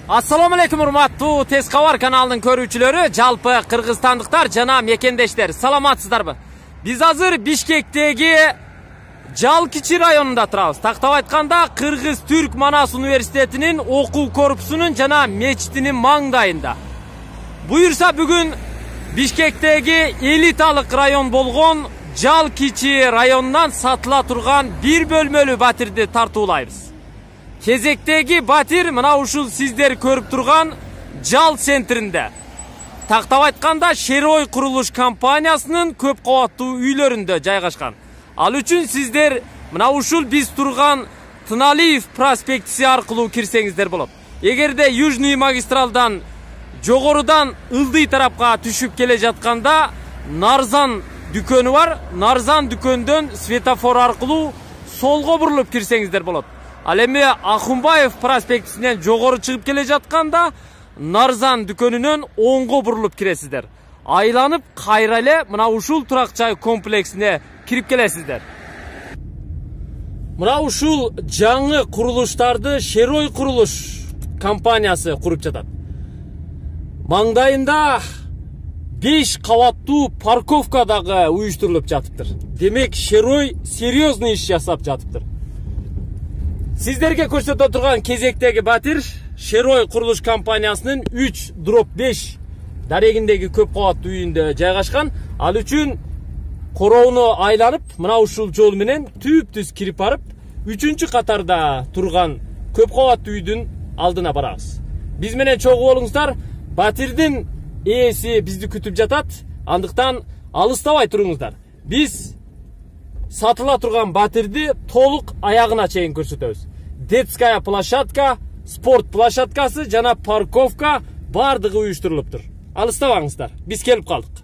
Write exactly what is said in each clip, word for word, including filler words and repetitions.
Assalomu alaykum урматтуу Tez Xabar kanalынын көрүүчүлөрү, жалпы кыргызстандыктар жана мекендештер, саламатсыздарбы? Биз азыр Бишкектеги Жалкичи районунда турабыз. Тактап айтканда, Кыргыз-Түрк Манас университетинин окуу корпусунун жана мечитинин маңдайында. Буюрса бүгүн Бишкектеги элиталык район болгон Жалкичи районунан сатыла турган бир бөлмөлүү батирди тартуулайбыз. Кезектеги батир мына ушул сиздер көрүп турган Жал центринде. Тактап айтканда, Шерой курулуш компаниясынын көп кабаттуу үйлөрүндө жайгашкан. Ал үчүн сиздер мына ушул биз турган Тыналиев проспектиси аркылуу кирсеңиздер болот. Эгерде Южный магистралдан жогорудан Ылдый тарапка түшүп келе жатканда Нарзан дүкөнү бар. Нарзан дүкөндөн светофор аркылуу солго бурулуп кирсеңиздер болот. Ал эми Ахунбаев проспектисинен жогору чыгып келе жатканда Нарзан дүкөнүнөн оңго бурулуп киресиздер. Айланып кайра эле мына ушул турак жай комплексине кирип келесиздер. Мына ушул жаңы курулуштарды Шерой курулуш компаниясы куруп жатат. Маңдайында беш кабаттуу парковка дагы уюштурулуп жатыптыр. Демек, Шерой серьезный иш жасап жатыптыр. Сиздерге көрсөтө турган кезектеги батир Шерой курулуш компаниясынын үч дробь беш дарегиндеги көп кабаттуу үйүндө жайгашкан. Ал үчүн короону айланып, мына ушул жол менен түп-түз кирип барып, үчүнчү катарда турган көп кабаттуу үйдүн алдына барабыз. Биз менен чогуу болуңуздар. Батирдин ээси бизди күтүп жатат. Андыктан алыстабай туруңуздар. Биз сатыла турган батирди толук аягына чейин көрсөтөбүз. Детская площадка, спорт площадкасы жана парковка бардыгы уюштурулуптур. Алыстабаңыздар. Биз келип калдык.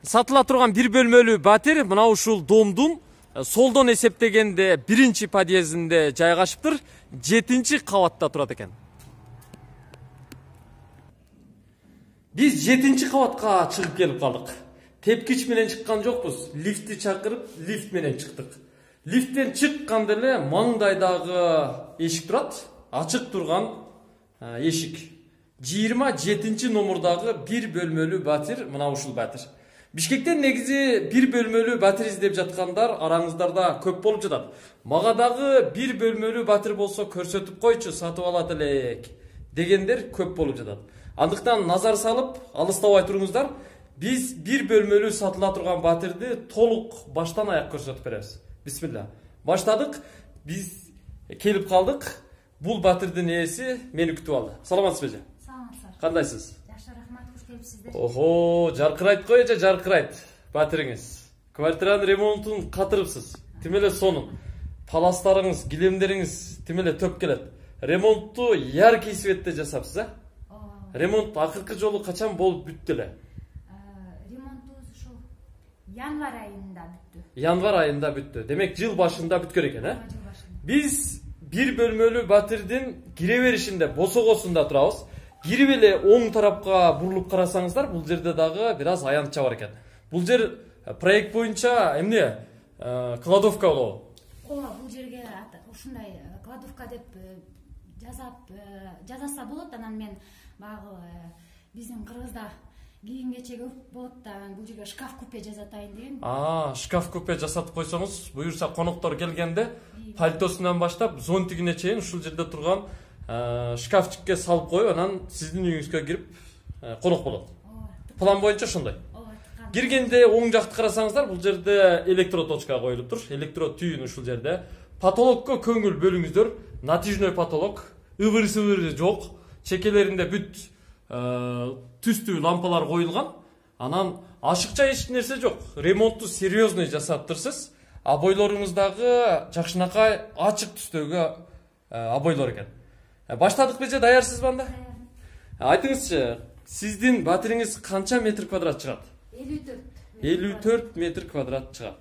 Сатыла турган бир бөлмөлүү батир мына ушул домдун солдон эсептегенде биринчи подъездинде жайгашыптыр. жетинчи кабатта турат экен. Биз жетинчи кабатка чыгып келип калдык. Тепкич менен чыккан жокпуз. Лифтти чакырып, лифт менен чыктык. Лифттен чыкканда эле маңдайдагы эшик турат. Ачык турган эшик. жыйырма жетинчи номурдагы бир бөлмөлүү батир мына ушул батир. Бишкектен негизи бир бөлмөлүү батир издеп жаткандар араңыздарда көп болуп жатат. Мага дагы бир бөлмөлүү батир болсо көрсөтүп койчу, сатып алат элек дегендер көп болуп жатат. Андыктан назар салып, алыстабай туруңуздар. Биз бир бөлмөлүү сатыла турган батирди толук баштан аяк көрсөтүп беребиз. Бисмилла. Баштадык. Биз келип калдык. Бул батирдин ээси мени күтүп алды. Саламатсызбы? Саламатсыздар. Кандайсыз? Жакшы, рахмат, куш келипсиздер. Охо, жаркырайт го эже, жаркырайт батириңиз. Квартиранын ремонтун катырыпсыз. Тим эле сонун. Паластарыңыз, килемдериңиз тим эле төп келет. Ремонтту яркий светте жасапсыз, а? Ремонт акыркы жолу качан болуп бүттү эле? Ремонтубуз ушул январь айында бүттү. Январь айында бүттү. Демек, жыл башында бүткөн экен, а? Биз бир бөлмөлүү батирдин кире беришинде босогосунда турабыз. Кирип эле оң тарапка бурулуп карасаңыздар, бул жерде дагы бир аз аянтча бар экен. Бул жер проект боюнча эмне? Кладовка болобу? Ооба, бул жерге ушундай кладовка деп жазап жазаса болот. Анан мен багы биздин Кыргызда кийим кечек көп болот да, бул жерге шкаф купе жасатайын деген. А, шкаф купе жасатып койсоңуз, буюрса коноктор келгенде пальтосунан баштап зонтигине чейин ушул жерде турган шкафчикке салып коюп, анан сиздин үйүңүзгө кирип конок болот. План боюнча ошондой. Киргенде оң жакты карасаңыздар, бул жерде электроточка коюлуптур. Электрод түйүн ушул жерде. Потолокко көңүл бөлүңүздөр. Натяжной потолок, ыбыр-сыбыры жок. Чекелеринде бүт түстүү лампалар коюлган. Анан ашыкча эч нерсе жок. Ремонтту серьезный жасаптырсыз. Обойлоруңуздагы жакшынакай ачык түстөгө обойлор экен. Баштадык же, даярсызбы анда? Айтыңызчы, сиздин батириңиз канча метр квадрат чыгат? элүү төрт. элүү төрт метр квадрат чыгат.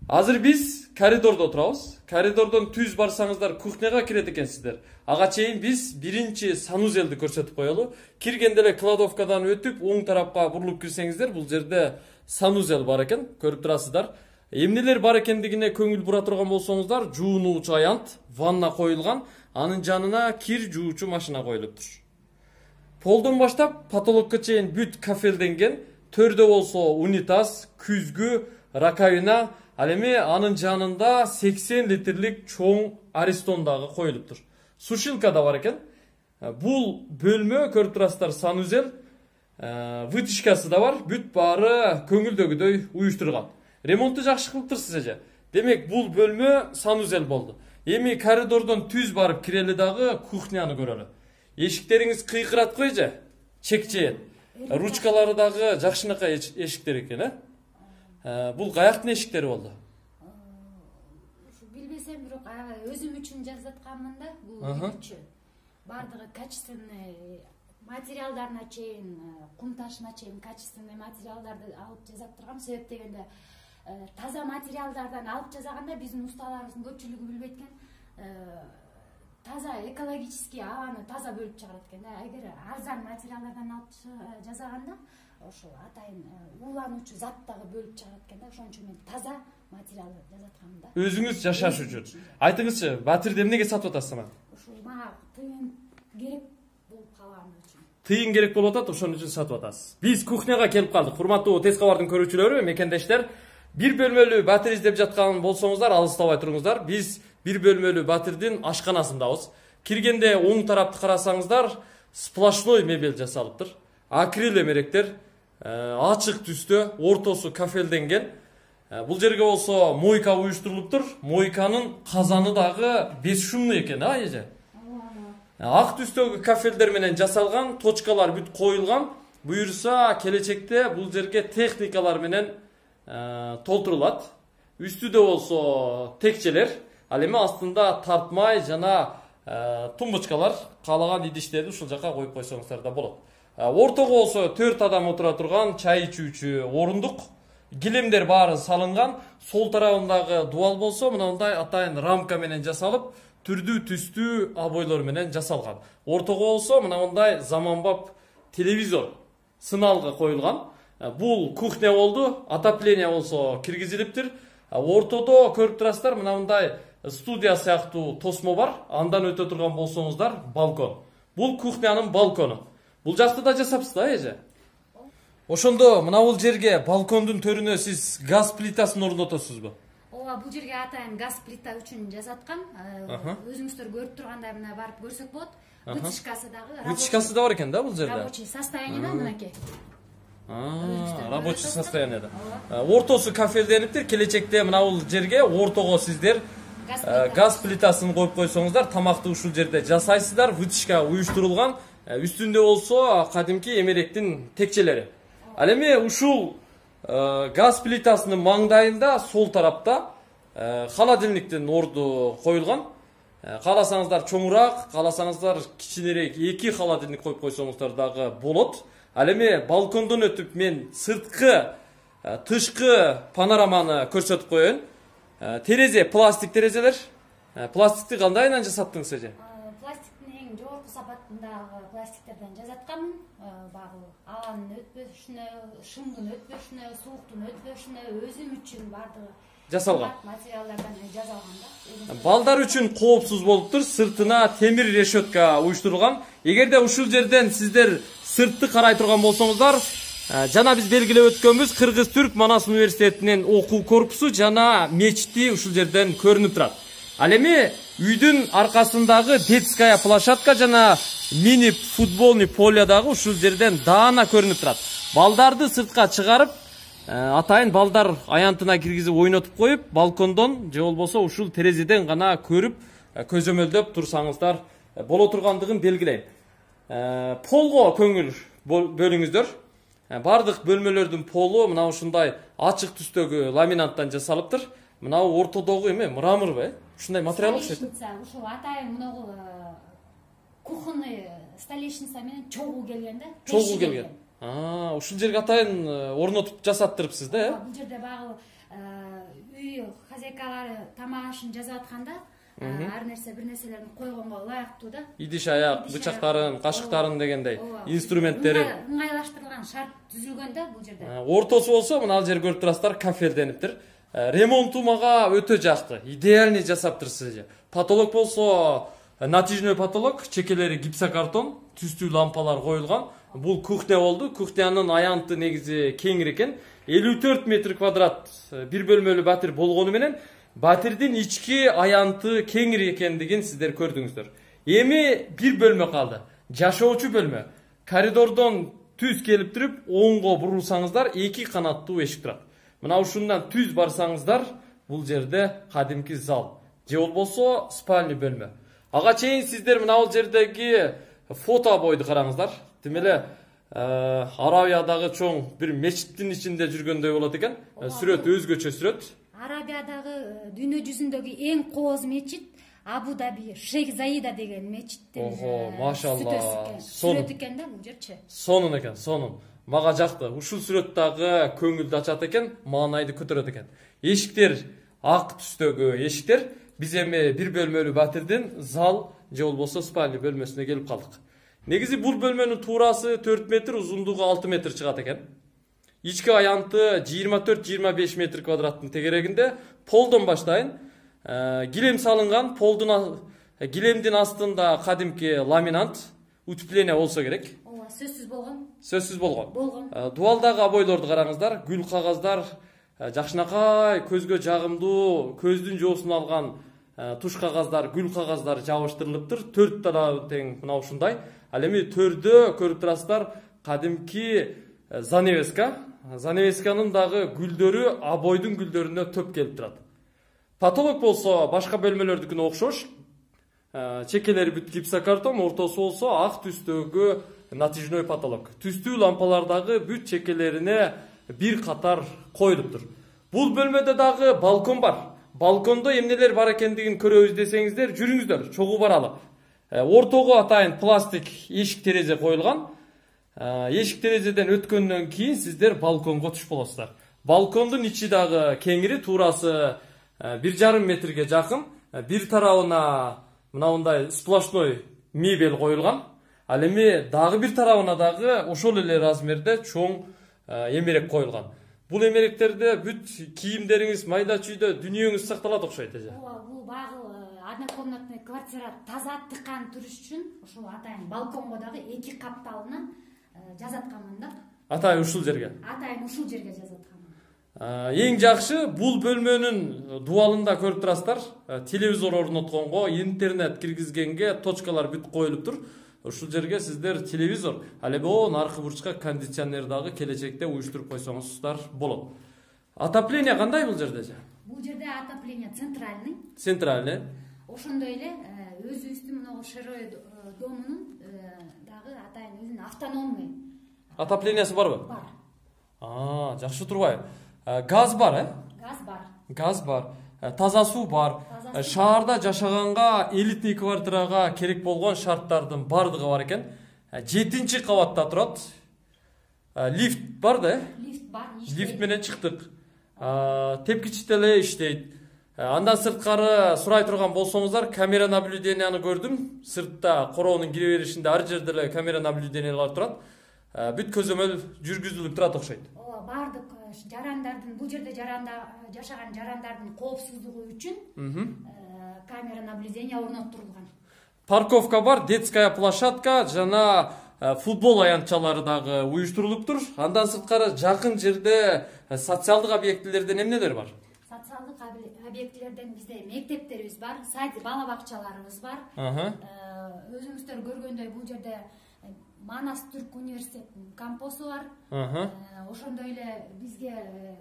Азыр биз коридордо турабыз. Коридордон түз барсаңыздар кухняга кирет экенсиздер. Ага чейин биз биринчи санузелди көрсөтүп коелу. Киргенде эле кладовкадан өтүп, оң тарапка бурулуп кирсеңиздер, бул жерде санузел бар экен, көрүп турасыздар. Эмнелер бар экендигине көңүл бура турган болсоңуздар, жуунуучу аянт, ванна коюлган, анын жанына кир жуучу машина коюлуптур. Полдон баштап потолокко чейин бүт кафелденген, төрдө болсо унитаз, күзгү, раковина, ал эми анын жанында сексен литрлик чоң аристон дагы коюлуптур. Сушилка да бар экен. Бул бөлмө көрүп турасыздар, санузел, вытяжкасы да бар, бүт баары көңүлдөгүдөй уюштурулган. Ремонтту жакшы кылыптырсыз эже. Демек бул бөлмө санузел болду. Эми коридордон түз барып кирели дагы кухняны көрөлү. Эшиктериңиз кыйкырат эже, чекчейет. Ручкалары дагы жакшынакай эшиктер экен, э? Бул каяктын эшиктери болду? Билбесем, бирок өзүм үчүн жазып атканмын да, бул үчү. Бардыгы качественный материалдарына чейин, кум ташына чейин качественный материалдарды алып жасап тургам. Себеп дегенде таза материалдардан алып жасаганда биздин усталарыбыздын көпчүлүгү билбейт экен. Таза экологический абаны таза бөлүп чыгарат экен да. Эгер арзан материалдардан алып жасаганда ошол атайын уулануучу зат дагы бөлүп чыгарат экен да. Ошон үчүн мен таза материал жасаткам да. Өзүңүз жашаш үчүн. Айтыңызчы, батирди эмнеге сатып атасыз ана? Ушул мага тыйын керек болуп калган үчүн. Тыйын керек болуп атат, ошон үчүн сатып атасыз. Биз кухняга келип калдык. Урматтуу Тез кабардын көрүүчүлөрү, мекендештер. Бир бөлмөлүү батир издеп жаткан болсоңуздар, алыстабай туруңуздар. Биз бир бөлмөлүү батирдин ашканасындабыз. Киргенде оң тарапты карасаңыздар, сплошной мебель жасалыптыр. Акрил эмеректер, ачык түстө, ортосу кафелденген. Бул жерге болсо мойка уюштурулуптур. Мойканын казаны дагы беш шумный экен, а эже? Ак түстөгү кафелдер менен жасалган, точкалар бүт коюлган. Буюрса келечекте бул жерге техникалар менен толтурулат. Үстүдө болсо текчелер, ал эми астында тартмай жана тумбочкалар, каалаган идиштерди ушул жака коюп койсоңуздар да болот. Ортого болсо төрт адам отура турган чай ичүүчү орундук, килемдер баары салынган. Сол тарабындагы дуал болсо мындай атайын рамка менен жасалып, түрдүү түстүү обойлор менен жасалган. Ортого болсо мындай заманбап телевизор сыналгы коюлган. Бул кухня болду, отопление болсо киргизилиптир. Ортодо көрүп турасыздар, мындай студия сыяктуу тосмо бар. Андан өтө турган болсоңуздар, балкон. Бул кухнянын балкону. Бул жакты да жасапсыз да, эже? Ошондо мына бул жерге балкондун төрүнө сиз газ плитасын орнотосузбу? Ооба, бул жерге атайын газ плита үчүн жасаткам. Өзүңүздөр көрүп тургандай мына барып көрсөк болот. Вытяжкасы дагы. Вытяжкасы да бар экен да бул жерде. Рабочий состояниеда мынакей. Рабочий состояниеда. Ортосу кафелдениптир. Келечекте мына бул жерге ортого сиздер газ плитасын коюп койсоңуздар, тамакты ушул жерде жасайсыздар. Вытяжка уюштурулган. Үстүндө болсо кадимки эмеректин текчелери. Ал эми ушул газ плитасынын маңдайында сол тарапта холодильниктин орду коюлган. Кааласаңыздар чоңураак, кааласаңыздар кичинерээк эки холодильник коюп койсоңуздар дагы болот. Ал эми балкондон өтүп мен сырткы, тышкы панораманы көрсөтүп коеюн. Терезе, пластик терезелер. Пластикти кандайынан жасаттыңыз эже? Пластиктин эң жогорку сапатындагы пластиктерден жасаткам. Багы абанын өтпөшүнө, шымдын өтпөшүнө, сууктун өтпөшүнө өзүм үчүн бардыгы жасалган материалдардан жасалган да. Балдар үчүн коопсуз болуптур. Сыртына темир решетка уюштурулган. Эгерде ушул жерден сиздер сыртты карай турган болсоңуздар, жана биз белгилеп өткөнбүз, Кыргыз-Түрк Манас университетинин окуу корпусу жана мечити ушул жерден көрүнүп турат. Ал эми үйдүн аркасындагы детская площадка жана мини футболный поле дагы ушул жерден даана көрүнүп турат. Балдарды сыртка чыгарып, атайын балдар аянтына киргизип ойнотуп коюп, балкондон же болбосо ушул терезеден гана көрүп, көзөмөлдөп турсаңыздар боло тургандыгын белгилейм. Полго көңүл бөлүңүздөр. Бардык бөлмөлөрдүн полу мына ушундай ачык түстөгү ламинанттан жасалыптыр. Мына ортодогу эме мраморбу, ушундай материал окшойт. Ушул атайын мунагу кухонный столешница менен чогуу келген да. Чогуу келген. А, ушул жерге атайын орнотуп жасаттырыпсыз да, э? Бул жерде багы үй хозяйкалары тамак ашын жасап атканда, ар нерсе бир нерселерин койгонго ылайыктуу да. Идиш аяк, бычактарын, кашыктарын дегендей инструменттери ыңгайлаштырылган шарт түзүлгөн да бул жерде. Ортосу болсо мына ал жер көрүп турасыздар, кафелдениптир. Ремонту мага өтө жакты. Идеальный жасаптырсыз. Потолок болсо натяжной потолок, чекелери гипсокартон, түстүү лампалар коюлган. Бул кухня болду. Кухнянын аянты негизи кеңир экен. элүү төрт метр квадрат бир бөлмөлүү батир болгону менен батирдин ички аянты кеңир экендигин сиздер көрдүңүздөр. Эми бир бөлмө калды. Жашоочу бөлмө. Коридордон түз келип туруп, оңго бурулсаңыздар эки канаттуу эшик турат. Мына ушундан түз барсаңыздар, бул жерде кадимки зал. Же болбосо спальный бөлмө. Ага чейин сиздер мына бул жердеги фото бойду караңыздар. Демеле Арабиядагы чоң бир мечиттин ичинде жүргөндөй болот экен. Сүрөт өзгөчө сүрөт. Арабиядагы дүйнө жүзүндөгү эң кооз мечит Абу Даби Шейх Заида деген мечиттин. Ого, машалла. Сүрөт экен да бул жерчи. Сонун экен, сонун. Мага жакты. Ушул сүрөттөгү көңүлдү ачат экен, маанайды көтөрөт экен. Эшиктер ак түстөгү эшиктер. Биз эми бир бөлмөлүү батирдин зал же болбосо спальный бөлмөсүнө келип калдык. Негизи бул бөлмөнүн туурасы төрт метр, узундугу алты метр чыгат экен. Ички аянты жыйырма төрт жыйырма беш метр квадраттын тегерегинде. Полдон баштайын. Гилем салынган, полдун гилемдин астында кадимки ламинант, утепление болсо керек. Ооба, сөзсүз болгон. Сөзсүз болгон. Болгон. Дубалдагы обойлорду караңыздар, гүл кагаздар, жакшынакай, көзгө жагымдуу, көздүн жоосун алган туш кагаздар, гүл кагаздар жабыштырылыптыр. төрт тарабы тең мына ушундай. Ал эми төрдө көрүп турасыздар, кадимки занавеска. Занавесканын дагы гүлдөрү обойдун гүлдөрүнө төп келип турат. Потолок болсо башка бөлмөлөрдүкүнө окшош. Чекелери бүт гипсокартон, ортосу болсо ак түстөгү натяжной потолок. Түстүү лампалардагы бүт чекелерине бир катар коюлуптур. Бул бөлмөдө дагы балкон бар. Балкондо эмнелер бар экендигин көрөбүз десеңиздер, жүрүңүздөр, чогуу баралы. Ортого атайын пластик эшик терезе коюлган. Эшик терезеден өткөндөн кийин сиздер балконго түшүп болосуздар. Балкондун ичи дагы кеңири, туурасы бир жарым метрге жакын. Бир тарабына мындай сплошной мебель коюлган. Ал эми дагы бир тарабына дагы ошол эле размерде чоң эмерек коюлган. Бул эмеректерде бүт кийимдериңиз, майда чүйдө дүнүйөңүз сакталат окшойт эже. Ооба, бул багы однокомнатный квартира таза тыкан туруш үчүн ошол атайын балконго дагы эки капталынан жазатканмын да. Атайын ушул жерге. Атайын ушул жерге жазатканмын. Эң жакшы бул бөлмөнүн дубалында көрүп турасыздар, телевизор орнотконго, интернет киргизгенге точкалар бүт коюлуптур. Ушул жерге сиздер телевизор, ал эми о наркы бурчка кондиционер дагы келечекте уюштуруп койсоңуздар болот. Отопление кандай бул жерде? Бул жерде отопление центральный. Центральный. Ошондой эле өзүбүздүн мына Шерой домунун дагы атайын өзүнүн автономный. Отоплениясы барбы? Бар. А, жакшы турбайбы? Газ бар, э? Газ бар. Газ бар. Таза суу бар. Шаарда жашаганга, элитный квартирага керек болгон шарттардын бардыгы бар экен. жетинчи кабатта турат. Лифт бар да, э? Лифт бар. Лифт менен чыктык. Тепкич деле иштейт. Андан сырткары сурай турган болсоңуздар, камера наблюденияны көрдүм. Сыртта короонун кире беришинде ар жерде эле камера наблюдениялар турат. Бүт көзөмөл жүргүзүлүп турат окшойт. Ооба, бардык жарандардын, бул жерде жаранда жашаган жарандардын коопсуздугу үчүн камера наблюдения орноттурулган. Парковка бар, детская площадка жана футбол аянтчалары дагы уюштурулуптур. Андан сырткары жакын жерде социалдык объектилерден эмнелер бар? Социалдык объектилерден бизде мектептерибиз бар, сад бала бакчаларыбыз бар. Өзүңүздөр көргөндөй бул жерде Манас Түрк университетинин кампусу бар. Ошондой эле бизге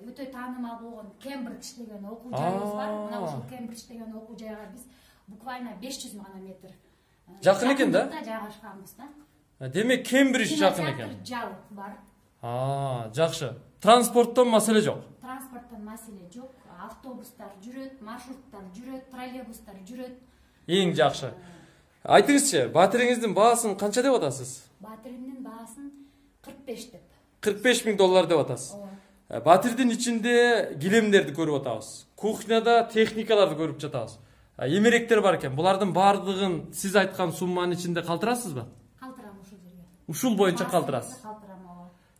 өтө таанымал болгон Кембридж деген окуу жайыбыз бар. Мына ушул Кембридж деген окуу жайга биз буквально беш жүз гана метр жакын экен да? Жайгашканбыз да. Демек Кембридж жакын экен. Жал бар. А, жакшы. Транспорттон маселе жок. Транспорттон маселе жок. Автобустар жүрөт, маршруттар жүрөт, троллейбустар жүрөт. Эң жакшы. Айтыңызчы, батириңиздин баасын канча деп атасыз? Батиримдин баасын кырк беш деп. кырк беш миң доллар деп атасыз. Батирдин ичинде килемдерди көрүп атабыз. Кухняда техникаларды көрүп жатабыз. Эмеректер бар экен. Булардын баардыгын сиз айткан сумманын ичинде калтырасызбы? Калтырам ушул жерге. Ушул боюнча калтырасыз.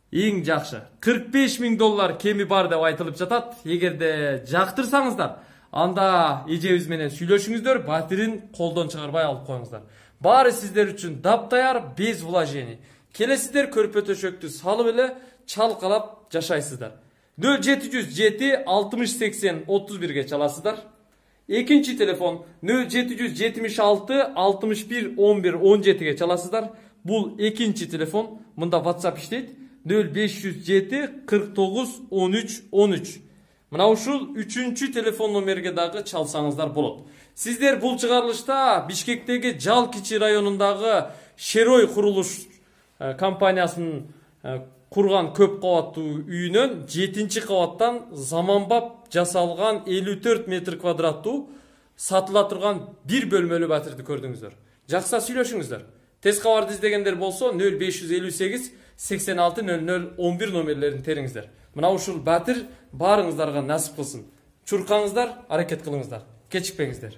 Эң жакшы кырк беш миң доллар кеми бар деп айтылып жатат. Эгерде жактырсаңыздар, анда эжебиз менен сүйлөшүңүздөр, батирин колдон чыгарбай алып коюңуздар. Баары сиздер үчүн таптаяр, без вложений. Келесиздер көрпө төшөктү салып эле чалкалап жашайсыздар. нөл жети жүз жети алтымыш сексен отуз бирге чаласыздар. Экинчи телефон нөл жети жүз жетимиш алты алтымыш бир он бир он жетиге чаласыздар. Бул экинчи телефон. Мында WhatsApp иштейт. нөл беш жүз жети кырк тогуз он үч он үч. Мына ушул үчүнчү телефон номерге дагы чалсаңыздар болот. Сиздер бул чыгарылышта Бишкектеги Жал Кичи районундагы Шерой курулуш компаниясынын курган көп кабаттуу үйүнөн жетинчи кабаттан заманбап жасалган элүү төрт метр квадраттуу сатыла турган бир бөлмөлүү батирди көрдүңүздөр. Жакса сүйлөшүңүздөр. Тез кабарды издегендер болсо нөл беш жүз элүү сегиз сексен алты нөл нөл он бир номерлерин териңиздер. Мына ушул батир баарыңыздарга насип кылсын. Чуркаңыздар, аракет кылыңыздар. Кечикпеңиздер.